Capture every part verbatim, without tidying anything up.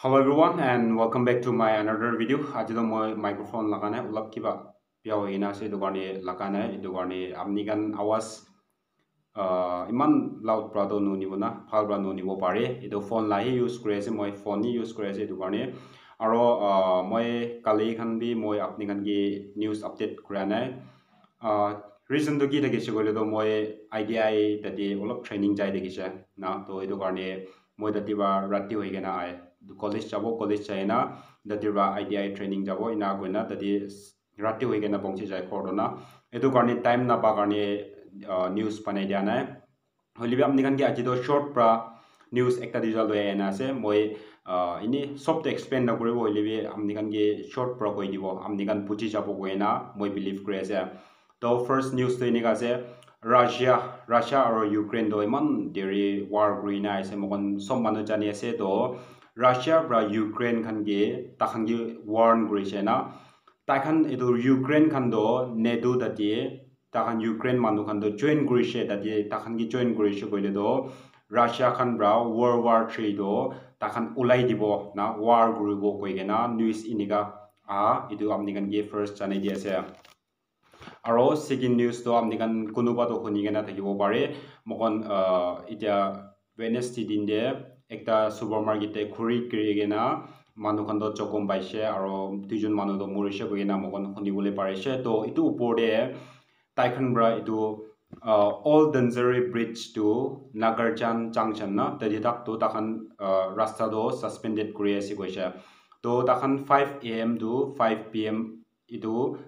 Hello everyone and welcome back to my another video. Aji to moi microphone laga nai, olop kiba bia hoi kena ase, etu karne laga nai. Etu karne apni khan awaz, ah, iman loud pra to nunibo na, bhal pra nunibo pare. Etu phone la hi use kuri ase, moi phone hi use kuri ase etu karne. Aro, ah, moi kali khan bi moi apni khan ke news update kura nai. Ah, reason to ki thakise koile to moi I T I tate olop training jai thakise na, to etu karne moi tate pra rati hoi kena ahe, college jabo, college jai na tate pra I T I training jabo, ena koina tate rati hoi kena pongchi jai ghor to na. Etu karne time napa karne, ah, news banai dia nai. Hoile bi apni khan ke aji to short pra news ekta duita loi ahina ase. Moi, ah, ini sob to explain nakuribo, hoile bi apni khan ke short pra koi dibo, apni khan buji jabo koina moi believe kuri ase. To first news to enika ase, Russia, Russia aro Ukraine to iman deri war kuri na ase, moikhan sob manu jani ase. To Russia pra Ukraine khan ke, takhan ke warn kuri ase na. Takhan etu Ukraine khan to NATO tate, takhan Ukraine manu khan to join kuri ase, tate takhan ke join kuri ase koile to Russia khan pra World War Three to takhan ulai dibo na, war kuribo koi kena news enika aha, etu apni khan ke first janai di ase. Aro second news to apni khan kunuba to huni kena thakibo pare. Moikhan, ah, etia Wednesday din te ekta supermarket te khuri kiri kena manu khan to jokhom paise, aro duijon manu to morise koi kena moikhan huni bole parise. To etu upor te tai khan pra etu, ah, Old Danzari Bridge to Nagarjan Junction na, tate tak to takhan, ah, rasta to suspended kuri ase koise. To takhan five A M to five P M etu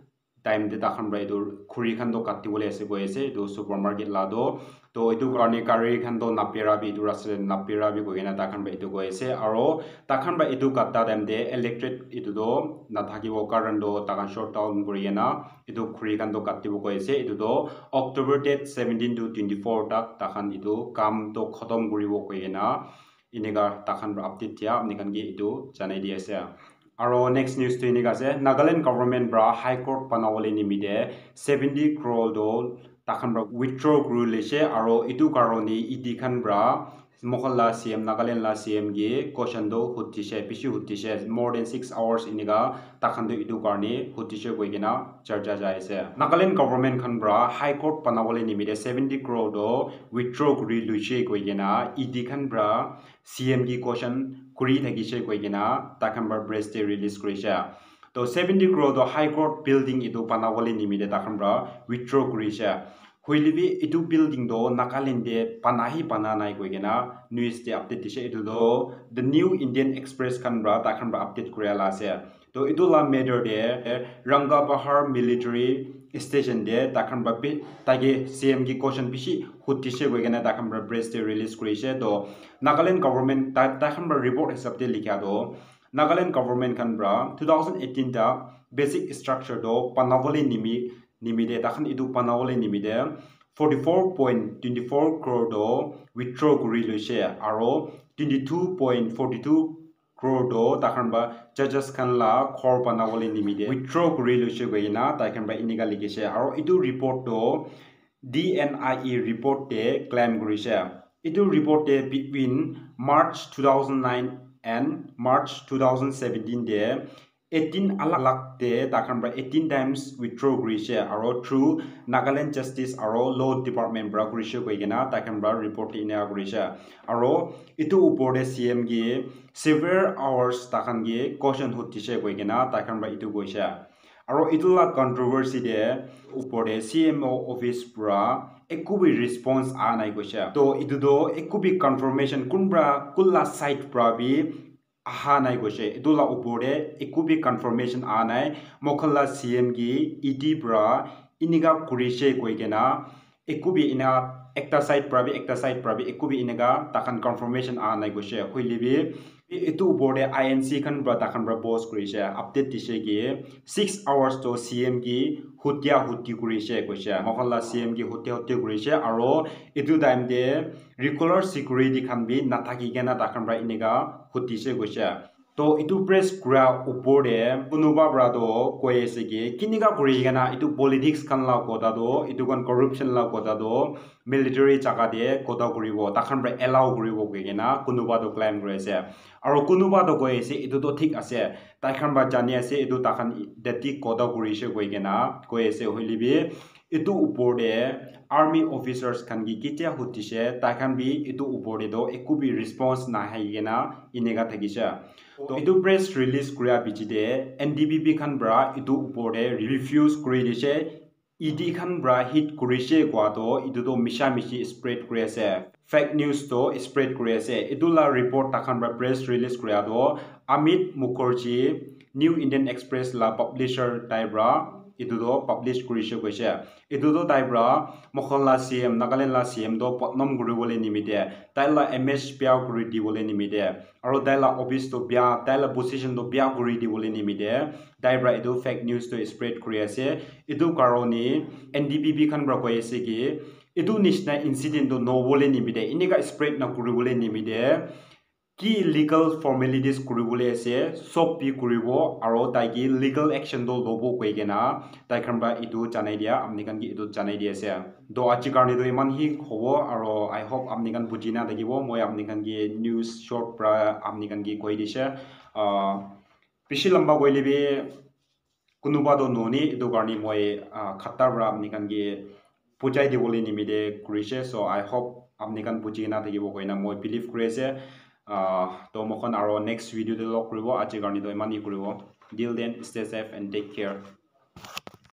time te takhan pra etu khuri khan to kati bole ase koi ase, etu supermarket la to. To etu karne gari khan to napera bi, etu rasta te napera bi koi kena takhan pra etu koi ase. Aro takhan pra etu kata time te electric etu to nathakibo, current to takhan shut down kuri kena etu khuri khan to katibo koi ase. Etu to October date seventeen to twenty-four tak takhan etu kam to khatam kuribo koi kena enika takhan pra update dia apni khan ke etu janai di ase. Aro next news to enika ase, Nagaland government pra High Court banabole nimite seventy crore to takhan pra withdraw kuri lise, aro etu karone E D khan pra moikhan la C M, Nagaland la C M ke question to hudise, bishi hudise, more than six hours enika takhan to etu karne hudise koi kena charcha jai ase. Nagaland government khan pra High Court banabole nimite seventy crore to withdraw kuri luise koi kena E D khan pra C M ke question kuri thakise koi kena takhan pra press te release kurise. To seventy crore to High Court building etu banabole nimite takhan pra withdraw kurise. Hoile bi etu building to Nagaland te bana hi bana nai koi kena news te update dise. Etu to The New Indian Express khan pra takhan pra update kuria la ase. To etu la matter te Rangapahar Military Station te takhan pra bi, taike C M ke question bishi hudise koi kena takhan pra press te release kurise. To Nagaland government ta, takhan pra report hisab te likha to Nagaland government khan pra two thousand eighteen ta basic structure to banabole nimi, nimite, takhan etu banabole nimite forty-four point twenty-four crore to withdraw kuri loise, aro twenty-two point forty-two crore to takhan pra judges khan la ghor banabole nimite withdraw kuri loise koi kena taikhan pra enika likise. Aro etu report to D N I E report te claim kurise. Etu report te between March two thousand nine and March two thousand seventeen te eighteen alag alag te takhan pra eighteen times withdraw kurise, aro through Nagaland Justice aro Law Department pra kurise koi kena taikhan pra report te enika kurise. Aro etu upor te C M ke several hours takhan ke question hudise koi kena taikhan pra etu koise. Aro etu la controversy te upor te C M O office pra eku bi response aha nai koise. To etu to eku bi confirmation kunpra kunla side pra bi aha nai koise. Etu la upor te eku bi confirmation aha nai. Moikhan la C M ke E D pra enika kurise koi kena eku bi ena ekta side pra bi, ekta side pra bi eku bi enika takhan confirmation aha nai koise. Hoile bi etu upor te I N C khan pra takhan pra post kurise, update dise ki six hours to C M ke hutia huti kurise koise. Moikhan la C M ke hutia huti kurise, aro etu time te regular security khan bi nathaki kena takhan pra enika hudise koise. To etu press kura upor te kunuba para to koi ase ki kinika kuri kena etu politics khan la kotha to, etu khan corruption la kotha to military jaga te kotha kuribo, takhan para allow kuribo koi kena kunuba to claim kuri ase. Aro kunuba to koi ase etu to thik ase, taikhan para jani ase etu takhan dati kotha kuri ase koi kena koi ase, hoile bi etu upor te army officers khan ki ketia hudishe, taikhan bi etu upor te to eku bi response nahai kena eneka thakishe. To etu press release kuria piche te N D P P khan para etu upor te refuse kuri dishe, E D khan para hit kurishe kua to etu to misha mishi spread kuri ase, fake news to spread kuri ase. Etu la report takhan para press release kuria to Amit Mukherjee, New Indian Express la publisher tai para etu to publish kurishe koishe. Etu to tai para moikhan la C M, Nagaland la C M to badnam kuribole nimite, tai la image bya kuri dibole nimite, aro tai la office to bya, tai la position to bya kuri dibole nimite tai para etu fake news to spread kuri ase. Etu karone N D P P khan para koi ase ki etu nishina incident to nobole nimite, eneka spread na kuribole nimite, ki legal formalities kuribole ase, sob bi kuribo, aro tai ki legal action to lobo koi kena tai khan para etu janai dia, apni khan ki etu janai di ase. To aji karone to iman hi hobo, aro I hope apni khan buji na thakibo, moi apni khan ki news short para apni khan ki koi dishe. Ah, bishi lamba koile bi kunuba to noni, etu karone moi, ah, khata para apni khan ki bujai dibole nimite kurishe. So I hope apni khan buji na thakibo koina moi believe kuri ase. Ah, to moikhan aro next video te log kuribo, aji karone to iman hi kuribo. Till then, stay safe and take care.